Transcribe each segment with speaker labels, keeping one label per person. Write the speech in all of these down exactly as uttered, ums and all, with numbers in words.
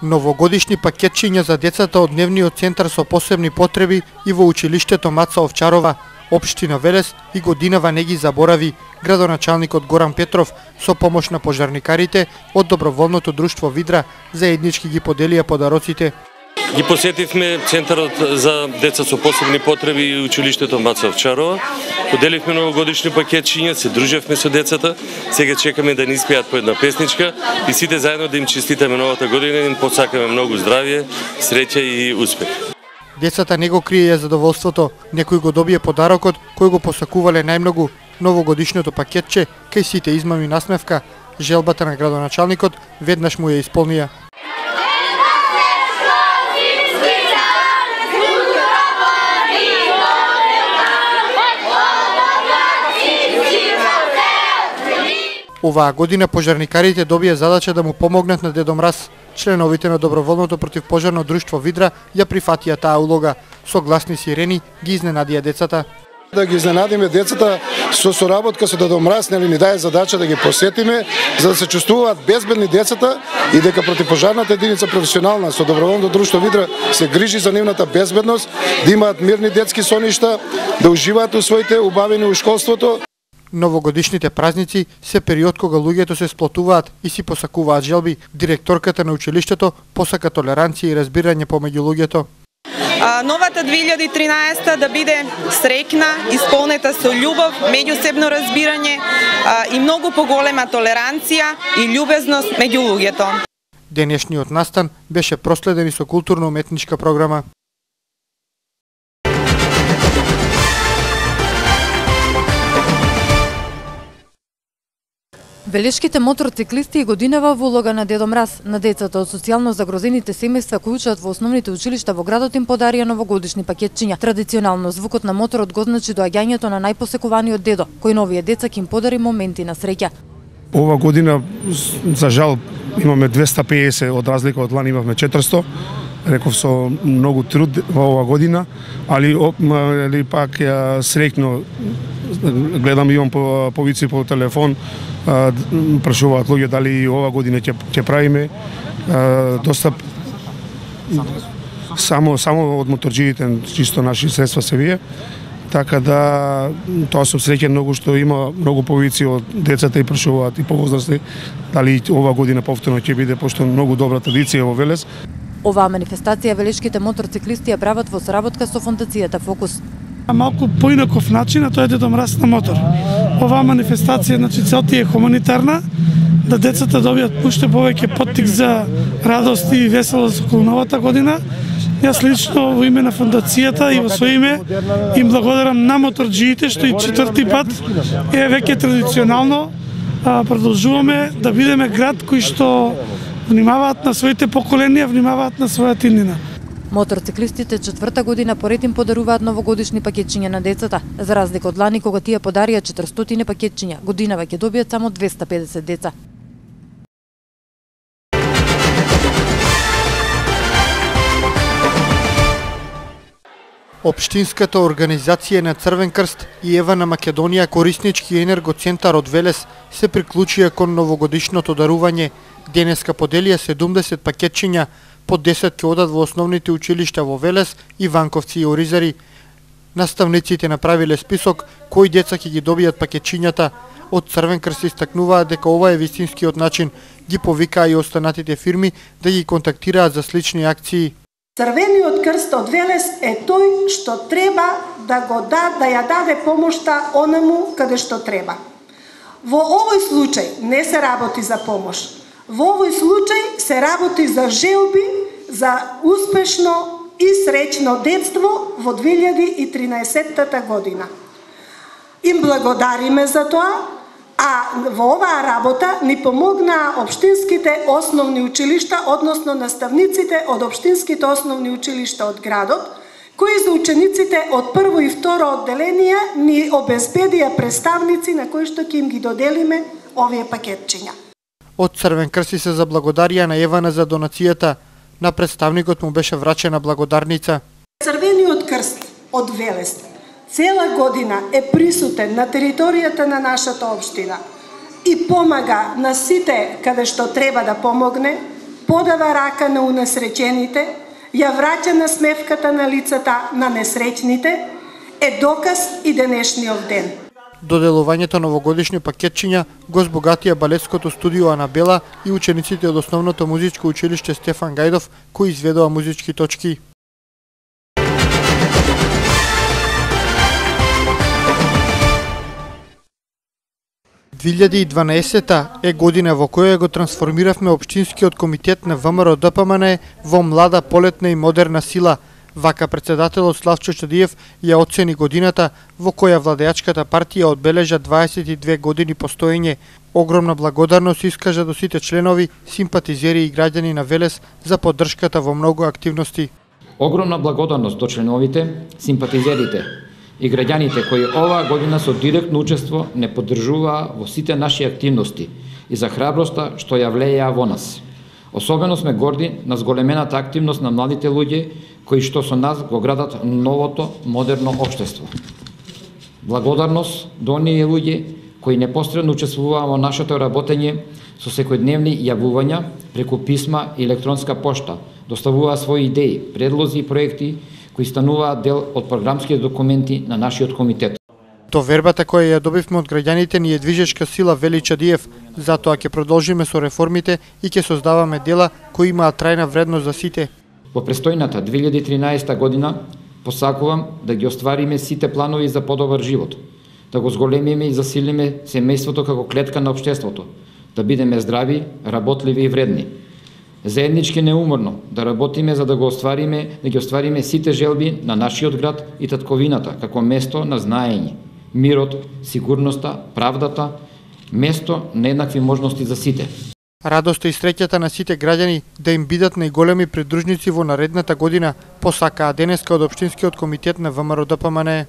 Speaker 1: Новогодишни пакетчиња за децата од дневниот центар со посебни потреби и во училиштето Маца Овчарова, општина Велес, и годинава не ги заборави градоначалникот Горан Петров со помош на пожарникарите од доброволното друштво Видра заеднички ги поделија подароците.
Speaker 2: Ги посетивме центарот за деца со посебни потреби и училиштето Маца Овчарова. Поделивме новогодишни пакетчиња, се дружевме со децата. Сега чекаме да ни испеат по една песничка и сите заедно да им честитаме новата година и да им посакаме многу здравје, среќа и успех.
Speaker 1: Децата не го криеја задоволството, некој го добие подарокот кој го посакувале најмногу, новогодишното пакетче, кај сите измами насмевка. Желбата на градоначалникот веднаш му ја исполнија. Оваа година пожарникарите добија задача да му помогнат на Дедо Мраз. Членовите на доброволното противпожарно друштво Видра ја прифатија таа улога. Со гласни сирени ги изненадија децата.
Speaker 3: Да ги изненадиме децата со соработка со Дедо Мраз, нели ни даде задача да ги посетиме, за да се чувствуваат безбедни децата и дека противпожарната единица професионална со доброволното друштво Видра се грижи за нивната безбедност, да имаат мирни детски соништа, да уживаат у своите убавени у школството.
Speaker 1: Новогодишните празници се период кога луѓето се сплотуваат и си посакуваат желби. Директорката на училиштето посака толеранција и разбирање помеѓу луѓето.
Speaker 4: Новата две илјади и тринаесета да биде среќна, исполнета со љубов, меѓусебно разбирање и многу поголема толеранција и љубезност меѓу луѓето.
Speaker 1: Денешниот настан беше проследен и со културно-уметничка програма.
Speaker 5: Велешките мотроциклисти и годинава во улога на Дедо Мраз на децата од социјално загрозените семејства кои учат во основните училишта во градот им подарија новогодишни пакетчиња. Традиционално звукот на моторот го значи доаѓањето на најпосекуваниот дедо, кој на овие деца ќе им подари моменти на среќа.
Speaker 3: Ова година за жал имаме двеста и педесет, од разлика од лани имавме четиристо. Реков со многу труд во ова година, али али пак среќно гледам, имам по повици по телефон, прашуваат луѓе дали и ова година ќе ќе правиме доста само само од моторџиите, чисто наши средства се вие. Така да тоа сум среќен многу што има многу повици од децата и прашуваат и повозрасни дали ова година повторно ќе биде, пошто многу добра традиција во Велес.
Speaker 5: Оваа манифестација велешките мотроциклисти ја прават во соработка со фондацијата Фокус.
Speaker 6: Малку поинаков начин, а тоа е Дедо Мраз на мотор. Оваа манифестација, значи, целта е хуманитарна, да децата добијат уште повеќе поттик за радост и веселост околу новата година. Јас лично во име на фондацијата и во своје име им благодарам на моторџиите што и четврти пат е веќе традиционално продолжуваме да бидеме град кој што внимаваат на своите поколенија, внимаваат на својата иднина.
Speaker 5: Мотроциклистите четврта година поред им подаруваат новогодишни пакетчиња на децата. За разлика од лани кога тие подарија четиристотини пакетчиња, годинава ќе добијат само двеста и педесет деца.
Speaker 1: Општинската организација на Црвен крст и Ева на Македонија кориснички енергоцентар од Велес се приклучија кон новогодишното дарување. Денеска поделија седумдесет пакетчиња, по десет ќе одат во основните училишта во Велес, Иванковци и Оризари. Наставниците направиле список кои деца ќе ги добијат пакетчињата. Од Црвен крст истакнуваат дека ова е вистинскиот начин. Ги повикаа и останатите фирми да ги контактираат за слични акции.
Speaker 7: Црвениот крст од Велес е тој што треба да го да, да ја даде помошта онаму каде што треба. Во овој случај не се работи за помош. Во овој случај се работи за желби за успешно и среќно детство во две илјади и тринаесетта година. Им благодариме за тоа, а во оваа работа ни помогнаа општинските основни училишта, односно наставниците од општинските основни училишта од градот, кои за учениците од прво и второ одделение ни обезбедија представници на кои што ќе им ги доделиме овие пакетчиња.
Speaker 1: Од Црвен крст се заблагодарија на Евана за донацијата. На представникот му беше врачена благодарница.
Speaker 7: Црвениот крст од Велес цела година е присутен на територијата на нашата општина и помага на сите каде што треба да помогне, подава рака на унесречените, ја враќа насмевката на лицата на несреќните, е доказ и денешниот ден.
Speaker 1: Доделувањето новогодишни пакетчиња го збогатија балетското студио Анабела и учениците од основното музичко училиште Стефан Гајдов, кои изведоа музички точки. две илјади и дванаесета е година во која го трансформиравме Општинскиот комитет на ВМРО Д П М Н во млада, полетна и модерна сила. Вака председателот Славчо Чадиев ја оцени годината во која владеачката партија одбележа дваесет и две години постоење. Огромна благодарност искажа до сите членови, симпатизери и граѓани на Велес за поддршката во многу активности.
Speaker 8: Огромна благодарност до членовите, симпатизерите и граѓаните кои оваа година со директно учество не поддржуваа во сите наши активности и за храброста што ја влееа во нас. Особено сме горди на зголемената активност на младите луѓе кои што со нас го градат новото модерно општество. Благодарност до оние луѓе кои непосредно учествуваа во нашето работење со секојдневни јавувања преку писма и електронска пошта, доставуваа своји идеи, предлози и проекти кои стануваат дел од програмските документи на нашиот комитет.
Speaker 1: Довербата која ја добивме од граѓаните ни е движечка сила, вели Чадиев, затоа ќе продолжиме со реформите и ќе создаваме дела кои имаат трајна вредност за сите.
Speaker 8: Во престојната две илјади и тринаесета година посакувам да ги оствариме сите планови за подобар живот, да го зголемиме и засилиме семејството како клетка на општеството, да бидеме здрави, работливи и вредни. Заеднички неуморно да работиме за да го оствариме, да ги оствариме сите желби на нашиот град и татковината како место на знаење, мирот, сигурноста, правдата, место на еднакви можности за сите.
Speaker 1: Радоста и среќата на сите граѓани да им бидат најголеми придружници во наредната година, посакаа денеска од Општинскиот комитет на ВМРО Д П М Н.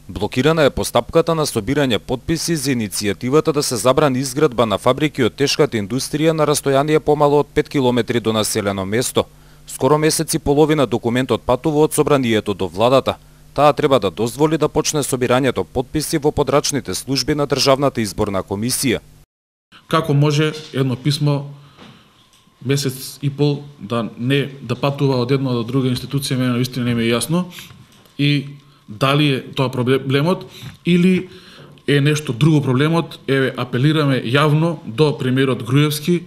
Speaker 9: Блокирана е постапката на собирање потписи за иницијативата да се забрани изградба на фабрики од тешката индустрија на растојание помало од пет километри до населено место. Скоро месец и половина документот патува од собранието до владата. Таа треба да дозволи да почне собирањето потписи во подрачните служби на Државната изборна комисија.
Speaker 10: Како може едно писмо месец и пол да не да патува од една до друга институција, мене навистина не ми е јасно, и дали е тоа проблемот или е нешто друго проблемот. Еве, апелираме јавно до премиерот Груевски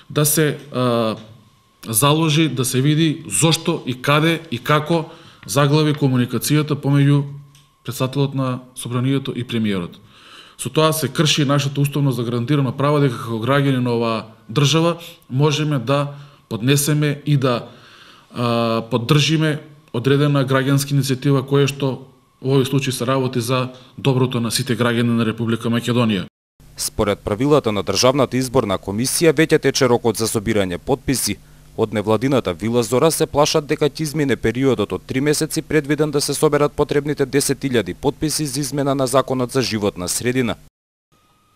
Speaker 10: да се а, заложи, да се види зошто и каде и како заглави комуникацијата помеѓу председателот на собранието и премиерот. Со тоа се крши нашето уставно загарантирано право дека како граѓани на оваа држава можеме да поднесеме и да а, поддржиме одредена граѓанска иницијатива која што во овој случај се работи за доброто на сите граѓани на Република Македонија.
Speaker 9: Според правилата на Државната изборна комисија веќе тече рокот за собирање потписи. Од невладината Вила Зора се плашат дека ќе измине периодот од три месеци предвиден да се соберат потребните десет илјади потписи за измена на Законот за животна средина.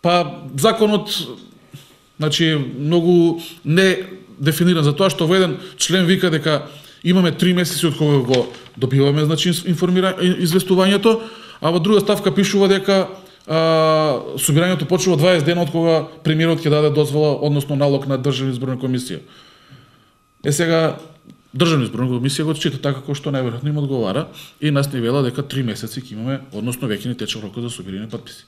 Speaker 10: Па законот, значи, многу не дефиниран, за тоа што во еден член вика дека имаме три месеци од кога го добиваме, значи, известувањето, а во друга ставка пишува дека а, собирањето почнува дваесет дена од кога премиерот ќе даде дозвола, односно налог на Државна изборна комисија. Е сега Државна изборна комисија го чита така како што најверојатно им одговара и нас не вела дека три месеци ќе имаме, односно веќе не тече рокот за собирање потписи.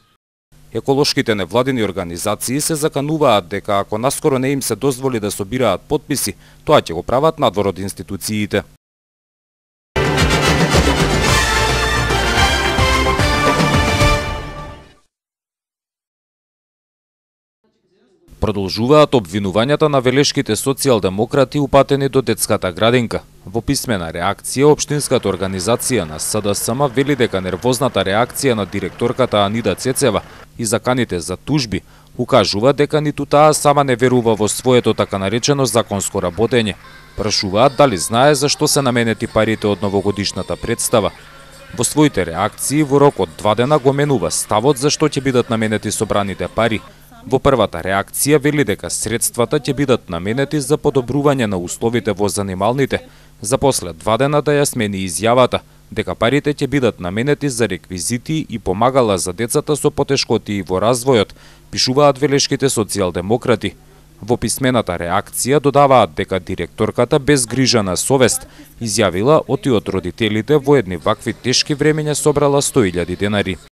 Speaker 9: Еколошките невладини организации се закануваат дека ако наскоро не им се дозволи да собираат потписи, тоа ќе го прават надвор од институциите. Продолжуваат обвинувањата на велешките социјалдемократи упатени до детската градинка. Во писмена реакција, Општинската организација на С Д С М вели дека нервозната реакција на директорката Анида Цецева и заканите за тужби укажува дека ниту таа сама не верува во своето така наречено законско работење. Прашуваат дали знае зашто се наменети парите од новогодишната представа. Во своите реакции во рок од два дена го менува ставот зашто ќе бидат наменети собраните пари. Во првата реакција вели дека средствата ќе бидат наменети за подобрување на условите во занималните, за после два дена да ја смени изјавата, дека парите ќе бидат наменети за реквизити и помагала за децата со потешкотии во развојот, пишуваат велешките социјалдемократи. Во писмената реакција додаваат дека директорката без грижа на совест изјавила оти од родителите во едни вакви тешки времења собрала сто илјади денари.